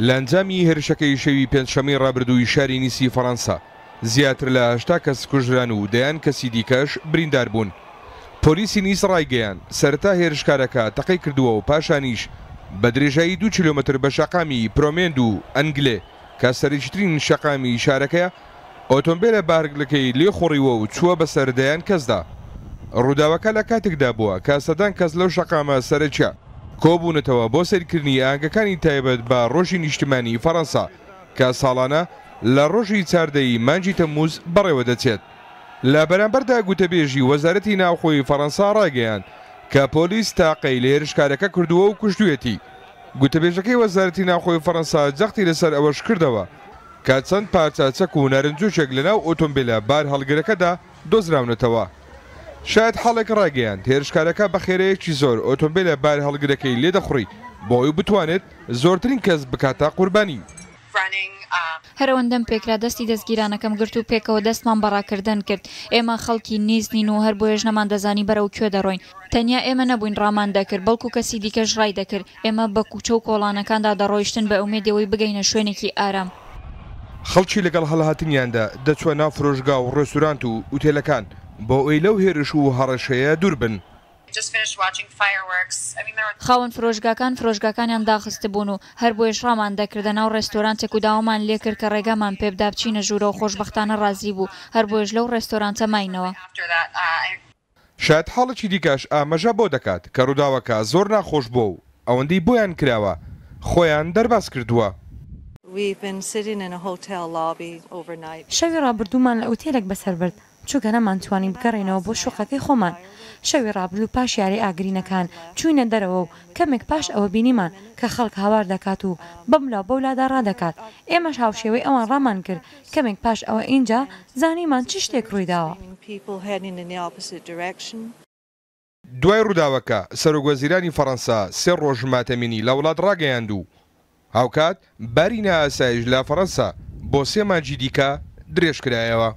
لە ئەنجامی هێرشەکەی شەوی پێنجشەممەی ڕابردووی شاری نیسی فەڕەنسا، زیاتر لە 80 کەس کوژران و دەیان کەسی دیکەش بریندار بوون. پۆلیسی نیس ڕایگەیاند، سەرەتا هێرشکارەکە تەقەی کردووە و پاشانیش بە درێژایی دوو کیلۆمەتر بە شەقامی پرۆمێند و ئەنگلێ کە سەرەکیترین شەقامی شارەکەیە، ئۆتۆمبێلە بارهەڵگرەکەی لێخوڕیوە و چووە بەسەر دەیان کەسدا. ڕووداوەکە لە کاتێکدا بووە کە سەدان کەس لەو شەقامە سەرەکیە کۆبوونەتەوە بۆ سەیرکردنی ئاهەنگەکانی تایبەت بە ڕۆژی نیشتمانی فەڕەنسا کە ساڵانە لە ڕۆژی 14 ی مانگی تەمموز بەڕێوەدەچێت. لە بەرامبەردا گوتەبێژی وەزارەتی ناوخۆی فەڕەنسا ڕایگەیاند کە پۆلیس تاقەی لە هێرشکارەکە کردووە و کوشتوویەتی. گوتەبێژەکەی وەزارەتی ناوخۆی فەڕەنسا جەختی لەسەر ئەوەش کردەوە کە چەند پارچە چەک و نارنجۆکێک لەناو ئۆتۆمبێلە بارهەڵگرەکەدا دۆزراونەتەوە. شایەتحاڵێک ڕایگەیاند، هێرشکارەکە بە خێرایەکی زۆر ئۆتۆمبێلە بارهەڵگرەکەی لێدەخوڕی بۆ ئەوەی بتوانێت زۆرترین کەس بکاتە قوربانی. هەر ئەوەندەم پێکرا دەستی دەستگیرانەکەم گرت و پێکەوە دەستمان بە ڕاکردن کرد. ئێمە خەڵکی نیس نین و هەر بۆیەش نەماندەزانی بەرەو کوێ دەڕۆین. تەنیا ئێمە نەبووین ڕامان دەکرد، بەڵکو کەسی دیکەش ڕای دەکرد. ئێمە بە کوچە و کۆڵانەکاندا دەڕۆیشتن بە ئومێدی ئەوەی بگەینە شوێنێکی ئارام. خەڵکی لەگەڵ هەڵهاتنیاندا دەچووە ناو فرۆشگا و ڕێستورانت و ئوتێلەکان بۆ ئەوەی لەو هێرش و هەڕەشەیە دوور بن. خاوەن فرۆشگاکان فرۆشگاکانیان داخستبوون و هەر بۆیەش ڕامان دەکردە ناو ڕێستۆرانتێک و داوامان لێکرد کە ڕێگامان پێبدا بچینە ژوورەوە، خۆشبەختانە ڕازی بوو، هەر بۆیەش لەو ڕێستۆرانتە ماینەوە. شایەتحاڵێکی دیکەش ئاماژە بەوە دەکات کە ڕووداوەکە زۆر ناخۆش بووە و ئەوەندەی بۆیان کراوە خۆیان دەرباز کردووە. شەوی ڕابردوومان لە ئوتێلێک بەسەر برد، چونکە نەمانتوانی بگەڕێینەوە بۆ شوقەکەی خۆمان. شەوی ڕابردوو پاش یاری ئاگرینەکان چووینە دەرەوە و کەمێک پاش ئەوە بینیمان کە خەڵک هاوار دەکات و بەملا و بەولادا ڕادەکات. ئێمەش هاوشێوەی ئەوان ڕامان کرد. کەمێک پاش ئەوە ئینجا زانیمان چ شتێک ڕوویداوە. دوای ڕووداوەکە، سەرۆکوەزیرانی فەڕەنسا سێ ڕۆژ ماتەمینی لە وڵات ڕاگەیاند و هاوکات باری نائاسایش لە فەڕەنسا بۆ سێ مانگی دیکە درێژکرایەوە.